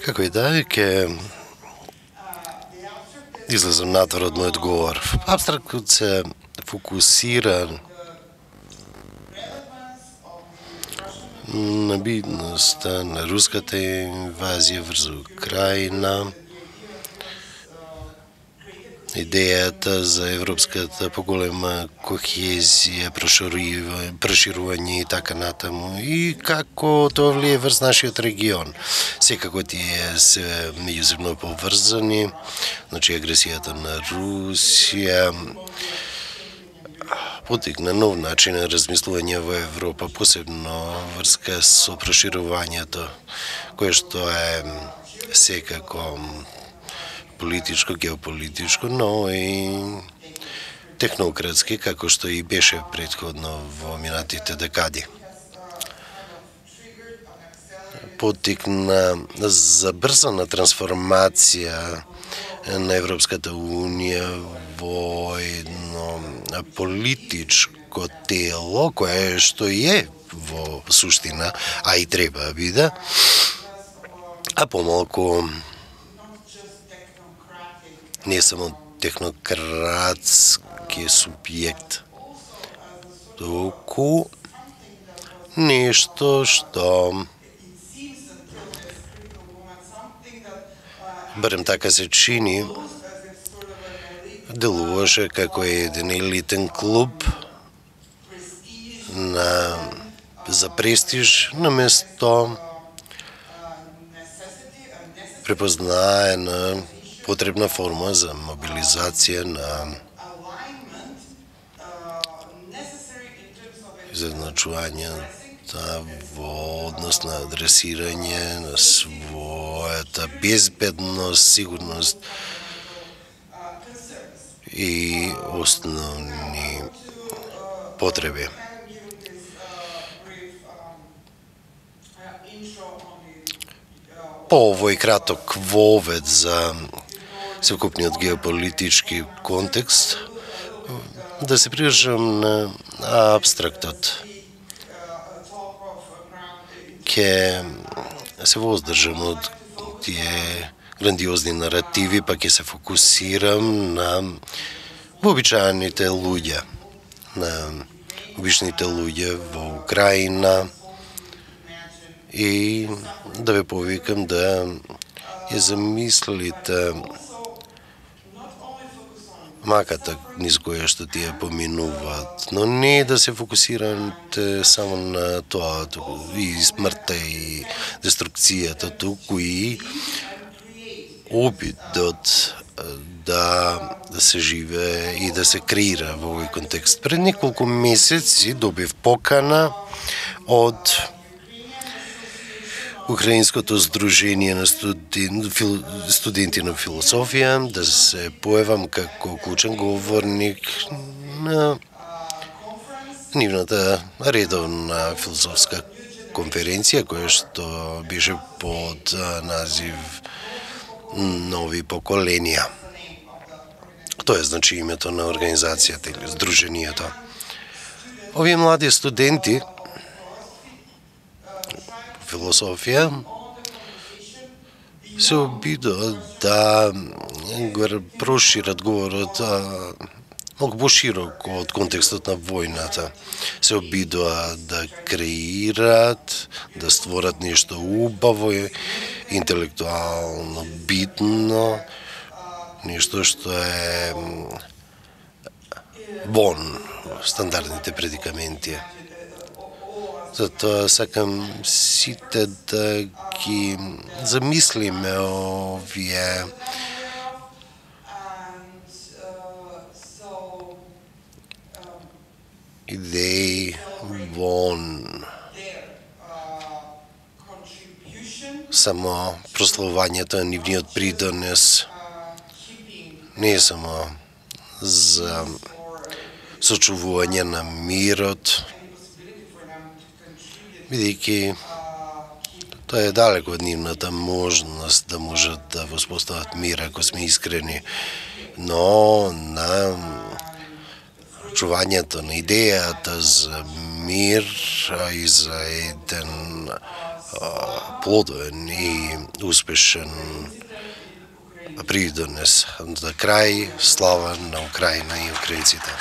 Како и да е, ќе излезам натвор од мојот говор. Абстрактот се фокусира на битноста на руската инвазија врз Украина, идејата за европската поголема кохезија, проширување и така натаму, и како тоа влие врз нашиот регион. Секако тие се меѓусебно поврзани, значи агресијата на Русија потикна нов начин на размислување во Европа, посебно врска со проширувањето, кое што е секако политичко, геополитичко, но и технократски, како што и беше претходно во минатите декади. Потикна забрзана трансформација на Европската Унија во едно политичко тело, кое што е во суштина, а и треба да биде, а помалку не само технократски субјект, туку нешто што барем така се чини, делуваше како еден елитен клуб за престиж, наместо препознаена потребна форма за мобилизација на изедначување во однос на адресирање на својата безбедност, сигурност и основни потреби. По овој краток вовед за секупниот геополитички контекст, да се прижам на абстрактот. Ке се воздржам од тие грандиозни наративи, па ќе се фокусирам на вообичаените луѓе, на обичните луѓе во Украина, и да ве повикам да ја замислите маката низ која што тие поминуваат, но не да се фокусирате само на тоа, и смртта и деструкцијата, туку и обидот да се живее и да се креира во овој контекст. Пред неколку месеци добив покана од Украинското здружение на студенти на философија да се појавам како клучен говорник на нивната редовна философска конференција, која што беше под назив Нови поколенија. Тоа е значи името на организацијата или здруженијето. Овие млади студенти философија се обидуваат да го прошират говорот малку пошироко од контекстот на војната. Се обидуваат да креират, да створат нешто убаво, интелектуално битно, нешто што е вон стандардните предикаменти. Затоа сакам сите да ги замислиме овие идеи вон само прославувањето на нивниот придонес не е само за сочувување на мирот, бидејќи тоа е далеко од нивната можност да можат да воспостават мир ако сме искрени, но на чувањето на идејата за мир и за еден плодовен и успешен придонес за крај слава на Украина и украинците.